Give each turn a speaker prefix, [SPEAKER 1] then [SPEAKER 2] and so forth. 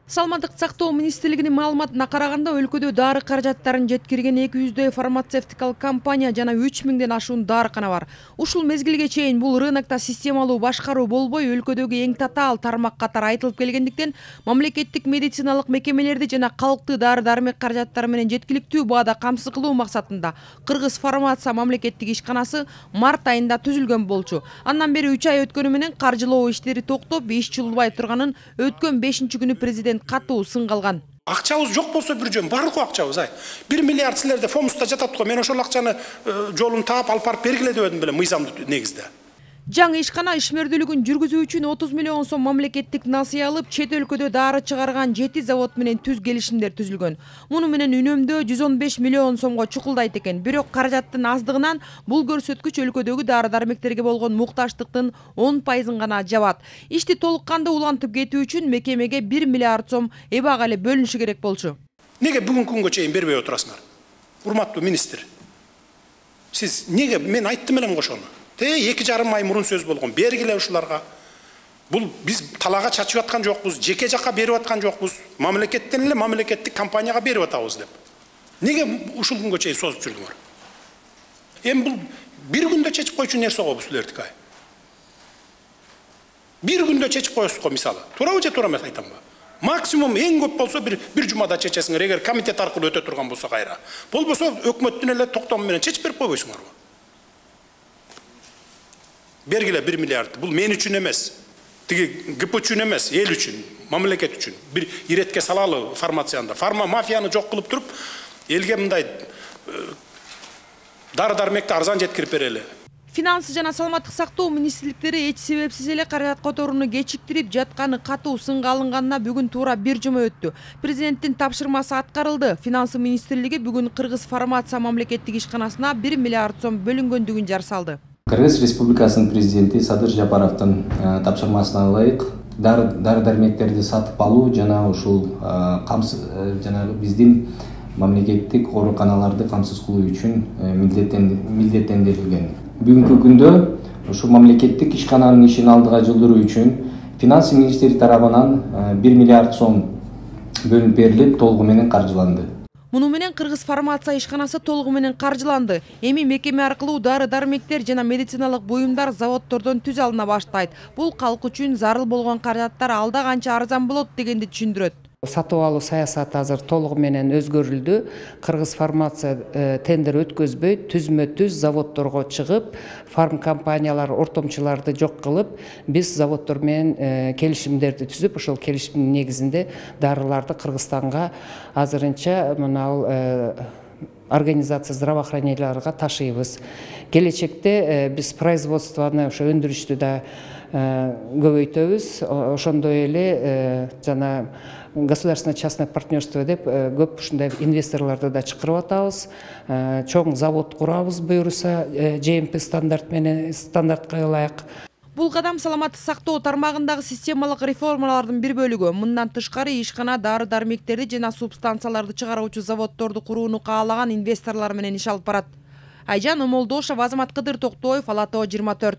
[SPEAKER 1] Саламаттык сактоо министрлигинин маалыматына караганда өлкөдө дары каражаттарын жеткирген 200дөй фармацевтикалык компания жана 3000ден ашуун дарыкана бар. Ушул мезгилге чейин бул рынокто системалуу башкаруу болбой, өлкөдөгү эң татаал тармак катары айтылып келгендиктен, мамлекеттик медициналык мекемелерди жана калкты дары-дармек каражаттары менен жеткиликтүү баада камсыз кылуу максатында Кыргыз фармация мамлекеттик ишканасы март айында түзүлгөн болчу. Андан бери 3 ай өткөнү менен каржылоо иштери токтоп, иш жылбай турганын өткөн 5-күнү президент катуу сынга алган.
[SPEAKER 2] Акчабыз жок болсо бир жөн барлык акчабыз 1 миллиард силерде фомуста жатат го. Мен ошол акчаны жолун таап алып барып бергиле деп едим беле мыйзамдуу негизде.
[SPEAKER 1] Жаңы ишкана ишмердүүлүгүн жүргүзүү үчүн 30 миллион сом мамлекеттик насыя алып, чет өлкөдө дары чыгарган 7 завод менен түз келишимдер түзүлгөн. Муну менен үнөмдөө 115 миллион сомго чукулдайт экен. Бирок каражаттын аздыгынан бул көрсөткүч өлкөдөгү дары-дармектерге болгон мукташтыктын 10% гана жабат. Ишти толук кандуу улантып кетүү үчүн мекемеге 1 миллиард сом эбак эле бөлүнүшү керек болчу.
[SPEAKER 2] Неге бүгүнкү күнгө чейин бербей отурасыңар? Урматтуу министр. Сиз неге мен айттым элем ошону? 2,5 ай мурун сөз болгон. Бергиле ушуларга. Бул биз талага чачып аткан жокпуз, жеке жакка берип аткан жокпуз. Мамлекеттен эле мамлекеттик компанияга берип атабыз деп. Неге ушул күнгө чейин созуп жүрдүңөр? Эми бул бир күндө чечип койчу нерсе го бул силердики. Бир күндө чечип коесуз го мисалы. Туурабы же туура эмес айтамбы? Максимум эң көп болсо бир жумада чечесиңер, эгер комитет аркылуу өтө турган болсо кайра. Болбосо өкмөттүн эле токтому менен чечип берип койбойсуңарбы? Бергиле 1 миллиард. Бул мен үчүн эмес. Тиги ГП үчүн эмес, эл үчүн, мамлекет үчүн. Бир иретке салалы фармацияны. Фарма мафияны жок кылып туруп, элге мындай дары-дармекти арзан жеткирип берели.
[SPEAKER 1] Финансы жана саламаттык сактоо министрликтери эч себепсиз эле каражат которууну кечиктирип жатканы катуу сынга алынганына бүгүн туура 1 жума өттү. Президенттин тапшырмасы аткарылды. Финансы министрлиги бүгүн Кыргыз фармация мамлекеттик ишканасына 1 миллиард сом бөлүнгөндүгүн жар салды.
[SPEAKER 3] Кыргыз Республикасынын президенти Садыр Жапаровдун тапшырмасына ылайык дары-дармектерди сатып алуу жана ушул жанагы биздин мамлекеттик ооруканаларды камсыз кылуу үчүн милдеттендирилген. Бүгүнкү күндө ушул мамлекеттик ишкананын ишин алдыга жылдыруу үчүн финансы министри тарабынан 1 миллиард сом бөлүнүп берилип, толугу менен каржыланды.
[SPEAKER 1] Муну менен Кыргыз фармация ишканасы толугу менен каржыланды. Эми мекеме аркылуу дары-дармектер жана медициналык буюмдар заводдордон түз алына баштайт. Бул калк үчүн зарыл болгон каражаттар алда канча арзан болот дегенди түшүндүрөт.
[SPEAKER 4] Сатып алуу саясаты азыр толугу менен өзгөрүлдү. Кыргыз фармация тендер өткөзбөй, түзмө-түз заводдорго чыгып, фарм компаниялар ортомчуларды жок кылып, биз заводдор менен келишимдерди түзүп, ошол келишимдин негизинде дарыларды Кыргызстанга азырынча мынау организация здравоохраненияларга ташыйбыз. Келечекте биз производствону, ошо өндүрүштү да көбөйтөбүз. Ошондой эле жана государственно-частное партнерство деп көп ушундай инвесторлорду да чакырып атабыз. Чоң завод курабыз буюрса, GMP стандартка ылайык.
[SPEAKER 1] Бул кадам саламаттык сактоо тармагындагы системалык реформалардын бир бөлүгү. Мындан тышкары ишкана дары-дармектерди жана субстанцияларды чыгаруучу заводдорду курууну каалаган инвесторлор менен иш алып барат. Айжан Омолдошова, Азамат Кыдыр Токтоев, Ала Тоо 24.